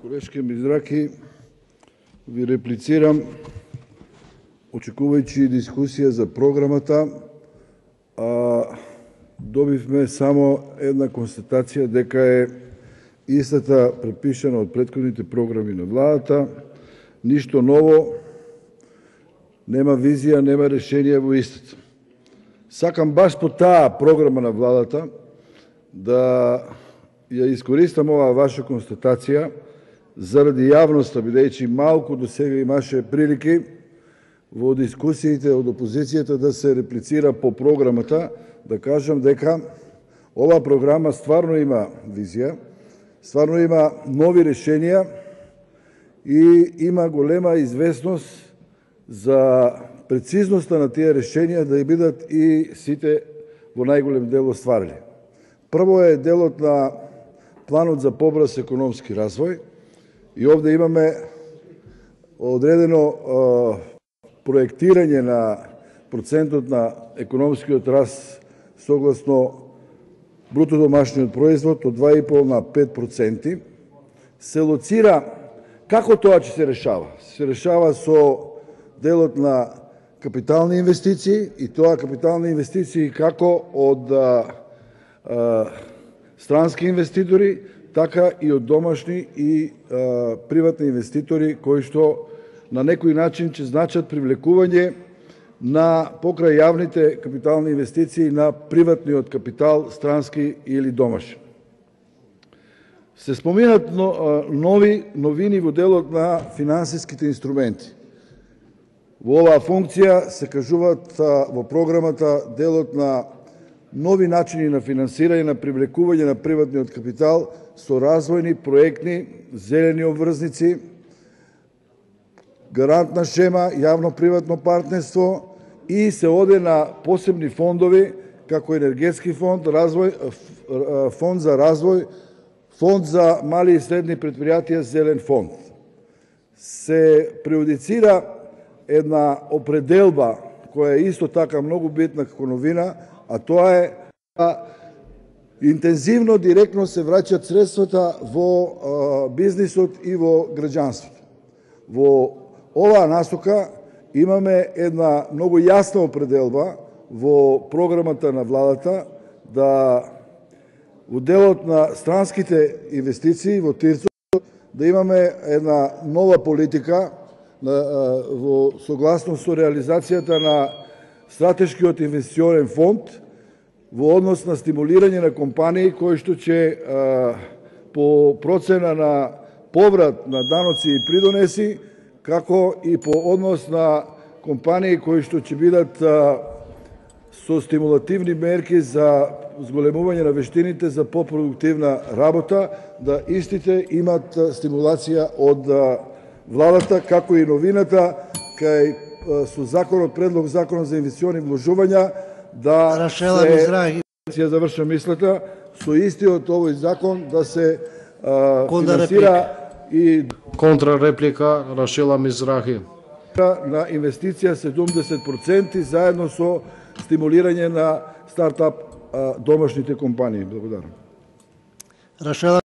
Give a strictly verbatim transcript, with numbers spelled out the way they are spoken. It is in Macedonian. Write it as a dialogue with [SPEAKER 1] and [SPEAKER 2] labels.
[SPEAKER 1] Колешке Мизраки, ви реплицирам, очекувајќи дискусија за програмата, а добивме само една констатација дека е истата препишана од претходните програми на владата, ништо ново, нема визија, нема решение во истата. Сакам баш по таа програма на владата да ја искористам оваа ваша констатација заради јавноста, бидејќи малку до сега имаше прилики во дискусиите од опозицијата да се реплицира по програмата, да кажам дека оваа програма стварно има визија, стварно има нови решенија и има голема известност за прецизноста на тие решенија да бидат и сите во најголем дел остварени. Прво е делот на планот за побрз економски развој и овде имаме одредено е, проектирање на процентот на економскиот раст согласно бруто домашниот производ од два и пол на пет проценти. Се лоцира како тоа ќе се решава. Се решава со делот на капитални инвестиции и тоа капитални инвестиции како од а, а, странски инвеститори, така и од домашни и а, приватни инвеститори кои што на некој начин ќе значат привлекување на покрај јавните капитални инвестиции на приватниот капитал, странски или домашен. Се споминат нови новини во делот на финансиските инструменти. Во оваа функција се кажуваат во програмата делот на нови начини на финансирање на привлекување на приватниот капитал со развојни проектни зелени обврзници, гарантна шема, јавно-приватно партнерство и се оде на посебни фондови како енергетски фонд, развој, фонд за развој, фонд за мали и средни предпријатија, зелен фонд. Се преодицира една определба која е исто така многу битна како новина, а тоа е да интензивно, директно се враќаат средствата во бизнисот и во граѓанството. Во оваа насока имаме една многу јасна определба во програмата на владата да во делот на странските инвестиции во ТИРЦО да имаме една нова политика во согласност со реализацијата на стратешкиот инвестиционен фонд во однос на стимулирање на компании кои што ќе по процена на поврат на даноци и придонеси, како и по однос на компании кои што ќе бидат со стимулативни мерки за зголемување на вештините за попродуктивна работа, да истите имат стимулација од владата, како и новината кај со законот, предлог закон за инвестициони вложувања, да
[SPEAKER 2] Рашела Мизраги,
[SPEAKER 1] ја завршам мислата, со истиот овој закон да се а, финансира и
[SPEAKER 3] контрареплика Рашела Мизраги
[SPEAKER 1] на инвестиција седумдесет проценти заедно со стимулирање на стартап а, домашните компании. Благодарам.
[SPEAKER 2] Рашела